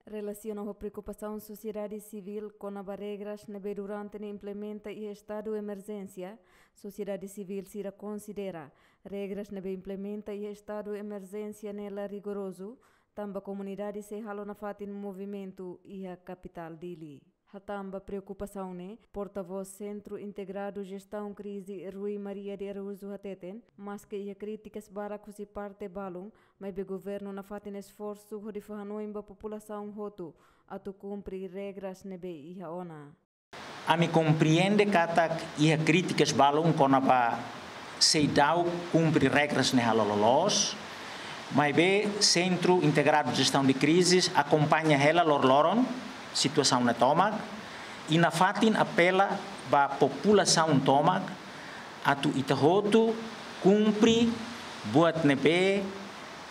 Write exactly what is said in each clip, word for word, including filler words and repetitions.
Relasiona ho preokupasaun sosiedade sivíl kona-ba regras ne'ebé durante ne'e implementa iha estadu emerjénsia, sosiedade sivíl sira konsidera regras ne'ebé implementa iha estadu emerjénsia ne'e la rigorozu, tanba komunidade sei halo nafatin movimentu iha kapitál Dili. Hatán ba preokupasaun ne'e, portavós Sentru Integradu Jestaun Krize, Rui Maria de Araújo hateten, maske iha krítikas barak husi parte balun, maibé governu nafatin esforsu hodi fó hanoin ba populasaun hotu atu kumpre regras ne'ebé iha ona. Ami komprende katak iha krítikas balun kona-ba seidauk kumpre regras ne'e halo loloos, maibé Sentru Integradu Jestaun de Krizes akompaña hela loroloron situasaun ne'e tomak, i nafatin apela ba populasaun tomak atu ita hotu kumpre buat ne'ebé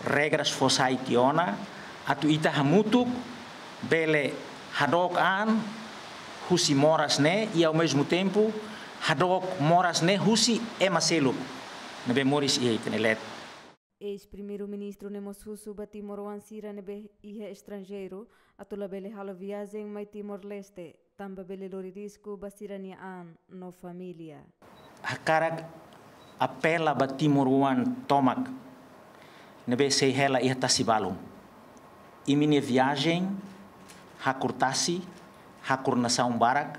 regras fó sai tiha ona, atu ita hamutuk bele hadook an husi moras ne'e, i ao mesmo tempo hadook moras ne'e husi ema seluk ne'ebé moris iha ita-nia leet. Eis-Primeiru-Ministru ne'e mós husu ba timoroan sira ne'ebé iha estranjeiru atu labele halo viajen mai Timor-Leste, tanba bele lori risku ba sira-nia an no família. Hakarak apela ba timoroan tomak ne'ebé sei hela iha tasi balun. Imi-nia viajen hakur tasi, hakur nasaun barak,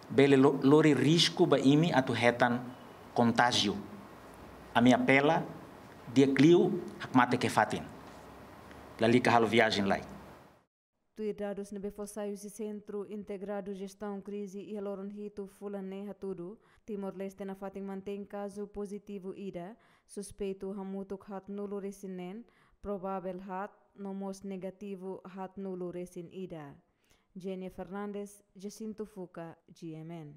bele lo-, lori risku ba imi atu hetan kontájiu. Ami apela, di'ak liu hakmatek iha fatin. Lalika halo viajen lai. Tuir dadus ne'ebé fó sai husi Sentru Integradu Jestaun Krize iha loron hitu fulan ne'e hatudu, Timor-Leste nafatin mantein kazu pozitivu ida, suspeitu hamutuk haatnulu resin neen, provável haat, no mós negativu haatnulu resin ida. Jenia Fernandes, Jacinto Fuca, G M N.